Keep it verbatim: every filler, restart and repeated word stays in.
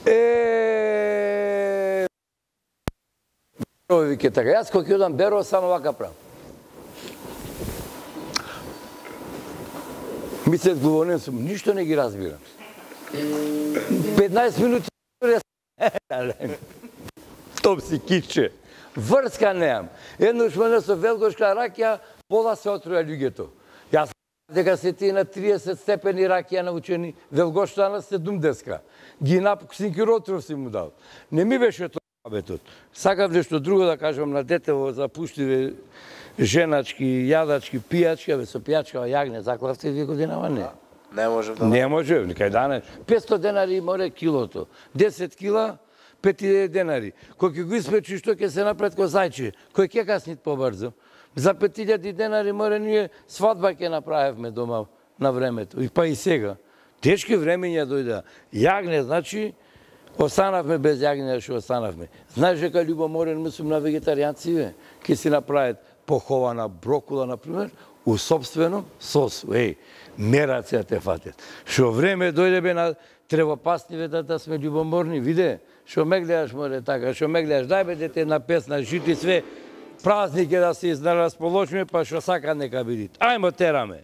Е... Вике така, јас кога ќе одам Беро, само вака правам. Мислет главонен сум, ништо не ги разбирам. петнаесет минути топ си киче. Врска неам. Еднош мене со велгошка ракија, пола се отруја луѓето. Јас дека се тие на триесет степени ракија научени, велгошта на седумдесет. Ги напук синкиротров си му дал. Не ми беше тоа абетот. Сакав нешто друго да кажам на детево за пуштиве женачки, јадачки, пијачки, абе со пијачка јагне, заклавте две годинава, не. Не може да. Не може, никај дане. петстотини денари море килото. десет кила, пет денари. Кој ќе го испечи, што ќе се напред ко зајче? Кој ќе каснит побрзо? За пет илјади денари море ние свадба ќе направевме дома на времето. И па и сега. Тешки времења дојда. Јагне, значи, останавме без јагне, што останавме. Знаеш дека љубоморен мислам на вегетаријанци, ќе си направат похована брокула, например, у собствено сосу. Еј, мерација те фатет. Шо време дојде бе на тревопасниве да, да сме љубоморни, виде, шо ме гледаш, море, така, шо ме гледаш, дај бе дете една песна, жити све, празник е да се изнаразположиме, па шо сака нека бидит. Ајмо тераме.